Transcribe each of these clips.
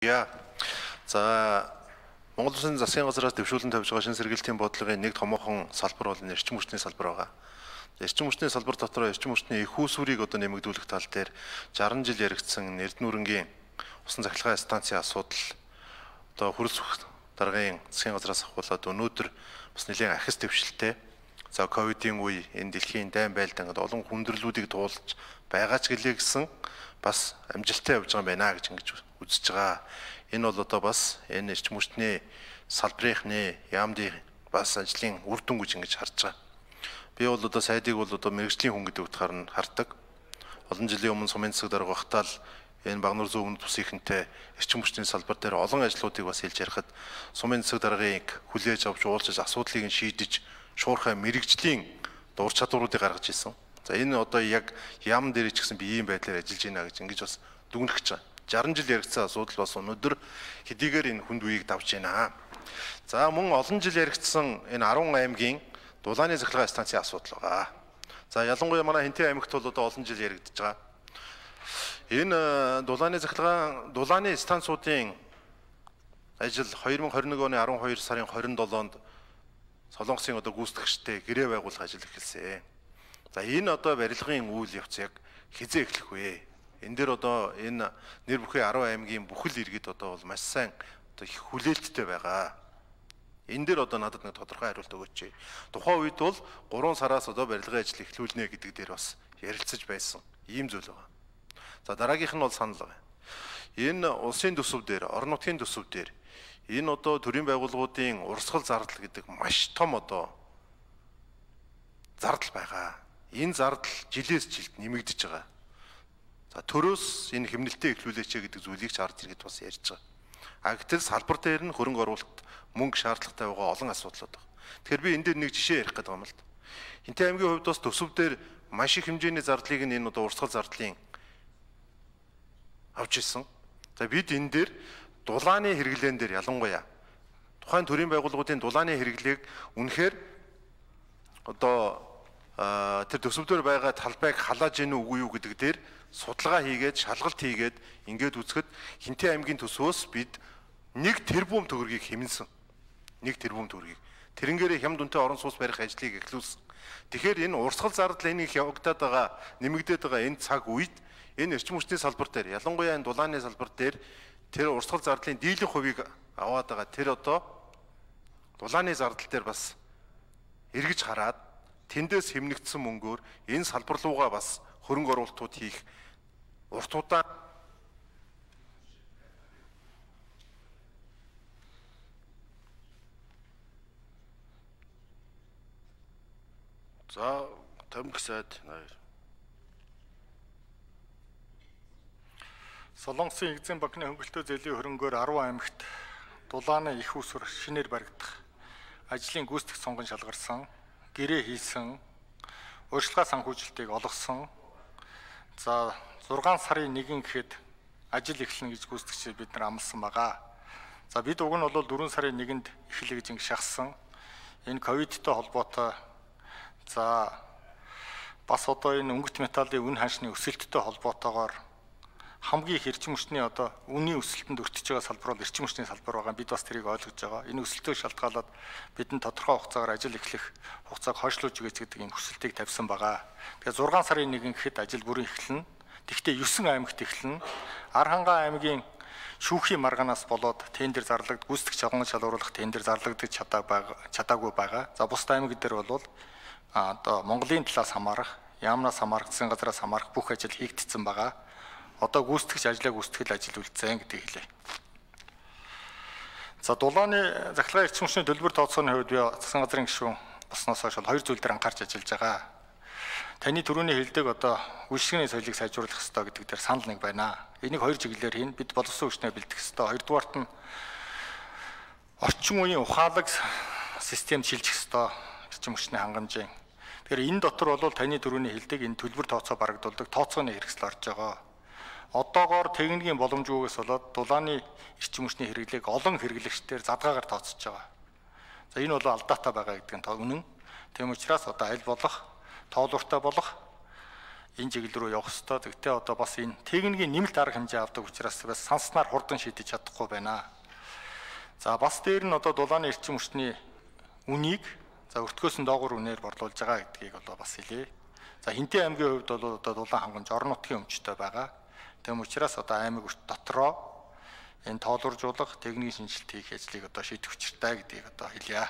Я. За Монгол Улсын засгийн газраас дэвшүүлэн тавьж байгаа шинэ сэргээлтийн бодлогын нэг томоохон салбар бол эрчим хүчний салбар байгаа. Эрчим хүчний салбар дотор эрчим хүчний их үүсвэрийг одоо нэмэгдүүлэх тал дээр 60 жил яригдсан Эрдэнүрэнгийн усан цахилгаан станцын асуудал одоо хөрөлцөх даргын засгийн газраас ахуулаад өнөөдөр бас нэлээд ахис дэвшилтэй. За ковидын үе энэ дэлхийн дайн байлдан гэдэг олон хүндрэлүүдийг туулж байгаа ч гэлээ гэсэн бас амжилттай явж байгаа юм байна гэж ингэж үзэж байгаа. Энэ бол одоо бас энэ эрчим хүчний салбарынхны яамдын бас ажлын үр дүн гэж ингэж харж байгаа. Би бол одоо сайдыг бол одоо мэрэгжлийн хүн гэдэг утгаар нь хардаг. Олон жилийн өмнө сумын засаг дарга багтаал энэ Багнуур зүүн өмнөд бус ихэнтэй эрчим хүчний салбар дээр олон ажлуудыг бас хэлж ярихад сумын засаг даргаыг хүлээж авч уулзаж асуудлыг нь шийдэж шуурхай мэрэгжлийн дур чадваруудыг гаргаж ирсэн. За энэ одоо яг яам дээр ч гэсэн би ийм байдлаар ажиллаж байна гэж ингэж бас дүгнэх гэж байгаа. 60 жил яригдсан асуудал бас өнөөдөр хэдийгээр энэ хүнд үеийг давж байна. За мөн олон жил яригдсан энэ 10 аймгийн дулааны цахилгаан станцын асуудал байгаа. За ялангуяа манай Хэнтээ аймагт бол одоо олон жил яригдж байгаа. Энэ дулааны станцуудын ажил 2021 оны 12 сарын 27-нд Солонгосын одоо гүйцэтгэгчтэй гэрээ байгуулах ажил эхэлсэн. За энэ одоо барилгын үйл явц яг хизээ эхлэх вэ? Энэ дээр одоо энэ нэр бүхий 10 аймгийн бүхэл иргэд одоо бол маш сайн одоо их хүлээлттэй байгаа. Энэ дээр одоо надад нэг тодорхой хариулт өгөөч. Тухайн үед бол 3 сараас одоо барилгын ажил эхлүүлнэ гэдэг дээр бас ярилцаж байсан. Ийм зүйл байгаа. За дараагийнх нь бол санал байгаа. Энэ улсын төсөв дээр, орон нутгийн төсөв дээр энэ одоо төрийн байгууллагуудын урсгал зардал гэдэг маш том одоо зардал байгаа. Энэ зардал жилээс жилд нэмэгдэж байгаа. За төрөөс энэ хэмнэлтэд эхлүүлээч гэдэг зүйлийг ч ард иргэд бас ярьж байгаа. А гэтэл салбар дээр нь хөрөнгө оруулалт мөнгө шаардлагатай байгаа олон асуудлууд байна. Тэгэхээр би энэ дээр нэг жишээ ярих гэдэг юм л да. Хэнтээ аймгийн хувьд бас төсөв дээр маш их хэмжээний зардлыг энэ одоо урсгал зардлын авч ирсэн. За бид энэ дээр дулааны хэрэглэн дээр ялангуяа тухайн төрийн байгууллагуудын дулааны хэрэглээг үнэхээр одоо тэр төсөв дээр байгаа талбайг халааж гэнэ үгүй юу гэдэг дээр судалгаа хийгээд шалгалт хийгээд ингээд үзэхэд Хэнтээ аймгийн төсвөөс бид 1 тэрбум төгрөгийг хэмнэсэн. 1 тэрбум төгрөгийг. Тэрнгээрээ хямд үнэтэй орон сууц барих ажлыг эхлүүлсэн. Тэгэхээр энэ урсгал зардал энийг явагдаад байгаа, нэмэгдээд байгаа энэ цаг үед энэ эрчим хүчний салбар дээр ялангуяа энэ дулааны салбар дээр тэр урсгал зардлын дийлэнх хувийг аваад байгаа. Тэр одоо дулааны зардал дээр бас эргэж хараад тэндээс хэмнэгдсэн мөнгөөр энэ салбар руугаа бас хөрөнгө оруулалтууд хийх урт удаан за Томик сайд Солонгосын Экзим банкны хөнгөлөлтөө зээлийн хөрөнгөөр 10 аймагт дулааны их усвар шинээр баригдах ажлын гүйцэтгэх сонгон шалгарсан, гэрээ хийсэн, урьдчилгаа санхүүжилтийг олгосон. За 6 сарын 1 гэхэд ажил эхэлнэ гэж гүйцэтгэгчид бид нар амласан байгаа. За бид уг нь бол 4 сарын 1-нд эхэллээ гэж ингэ шахсан. Энэ ковидтой холбоотой за бас одоо энэ өнгөт металлын үн ханшны өсөлттэй холбоотойгоор хамгийн их эрчим хүчний одоо үнийн өсөлтөнд өртөж байгаа салбар бол эрчим хүчний салбар байгаа. Бид бас тэрийг ойлгож байгаа. Энэ өсөлтөд шалтгаалаад бидэнд тодорхой хугацаагаар ажил эхлэх хугацааг хойшлуулж өгөөч гэдэг ийм хүсэлтийг тавьсан байгаа. Тэгэхээр 6 сарын 1 гэхэд ажил бүрэн эхэлнэ. Тэгвэл 9 аймагт эхэлнэ. Архангай аймгийн шүүхийн маргаанаас болоод тендер зарлагддаг, гүйцэтгэх чалган шалгуулах тендер зарлагдаж чадаагүй байгаа. За бусад аймаг дээр бол одоо Монголын талаас хамаарах, яамнаас хамаарах, засгийн газраас хамаарах бүх ажил хийгдсэн байгаа. Одоо гүйцэтгэгч ажлаа гүйцэтгэл ажил үлдсэн гэдэг хэлээ. За дулааны захиргааны эрчим хүчний төлбөр тооцооны хувьд би засгийн газрын гишүүн болсноос хойш 2 зүйл дээр анхаарч ажиллаж байгаа. Таны түрүүний хэлдэг одоо үйлчлэгний соёлыг сайжруулах хэрэгтэй гэдэг дээр санал нэг байна. Энийг 2 чиглэлээр хийн. Бид боловсон хүчнээ бэлдэх хэрэгтэй. Хоёрдугаарт нь орчин үеийн ухаалаг системд шилжих хэрэгтэй. Эрчим хүчний хангамжийн. Тэгэхээр энэ дотор бол таны түрүүний хэлдэг энэ төлбөр тооцоо барагдуулдаг тооцооны хэрэгсэл орж байгаа. Одоогоор техникийн боломжгүйгээс болоод дулааны эрчим хүчний хэрэглээг олон хэрэглэгчдээр задгаагаар тооцож байгаа. За энэ бол алдаатай байгаа гэдэг нь үнэн. Тийм учраас одоо аль болох тоолууртай болох энэ чиглэл рүү явах ёстой. Тэгтээ одоо бас энэ техникийн нэмэлт арга хэмжээ авдаг учраас бас санснаар хурдан шийдэж чадахгүй байна. За бас дээр нь одоо дулааны эрчим хүчний үнийг өртгөөс нь доогуур үнээр борлуулж байгаа гэдгийг одоо бас хэлье. За Хинтээ аймгийн хувьд бол одоо дулаан хангамж орон нутгийн өмчтэй байгаа. Тэм учраас одоо аймаг дотроо энэ тоолуржуулах, техникийн шинжилт хийх ажлыг одоо шийдэх учиртай гэдгийг одоо хэлье.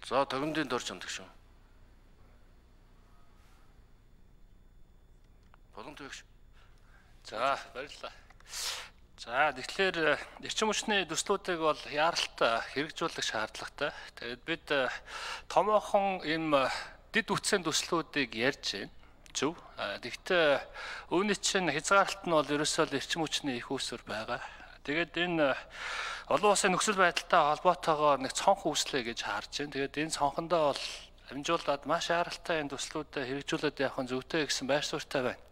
За тогтмолын дор чамдаг шүү. Болгон төгш. За баярлалаа. За тэгэхээр эрчим хүчний төслүүдийг бол яаралтай хэрэгжүүлэх шаардлагатай. Тэгээд бид томоохон ийм дэд үтсийн төслүүдийг ярьж байна. Зөв. Тэгэхдээ үүний чинь хязгаарлалт нь бол ерөөсөө эрчим хүчний их үүсвэр байгаа. Тэгээд энэ олон улсын нөхцөл байдалтай холбоотойгоор нэг цонх үүслэе гэж харж байна. Тэгээд энэ цонхондоо бол амжуулаад маш аралтай энэ төслүүдэд хэрэгжүүлээд явах нь зөвтэй гэсэн байр суурьтай байна.